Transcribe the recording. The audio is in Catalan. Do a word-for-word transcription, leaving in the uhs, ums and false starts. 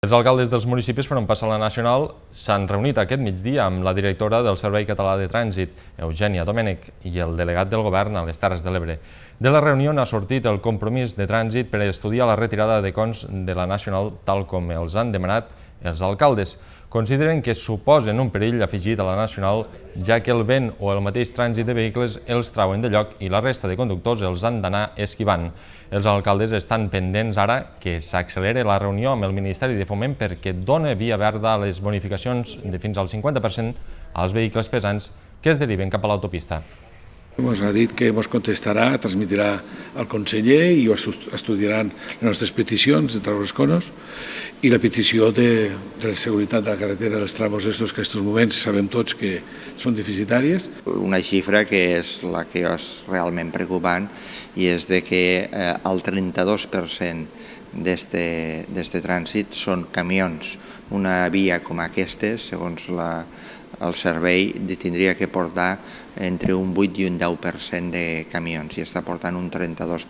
Els alcaldes dels municipis per on passa la Nacional s'han reunit aquest migdia amb la directora del Servei Català de Trànsit, Eugènia Domènech, i el delegat del Govern a les Terres de l'Ebre. De la reunió n'ha sortit el compromís de trànsit per estudiar la retirada de cons de la Nacional tal com els han demanat els alcaldes. Consideren que suposen un perill afegit a la Nacional, ja que el vent o el mateix trànsit de vehicles els trauen de lloc i la resta de conductors els han d'anar esquivant. Els alcaldes estan pendents ara que s'accelere la reunió amb el Ministeri de Foment perquè dona via verda a les bonificacions de fins al cinquanta per cent als vehicles pesants que es deriven cap a l'autopista. Ens ha dit que ens contestarà, transmetrà al conseller i estudiaran les nostres peticions de treure els conos i la petició de, de la seguretat de la carretera dels tramos estos que en aquests moments sabem tots que són deficitàries. Una xifra que és la que és realment preocupant i és de que eh, el trenta-dos per cent d'aquest trànsit són camions. Una via com aquesta, segons la, el servei, tindria que portar entre un vuit i un deu per cent de camions i està portant un trenta-dos per cent.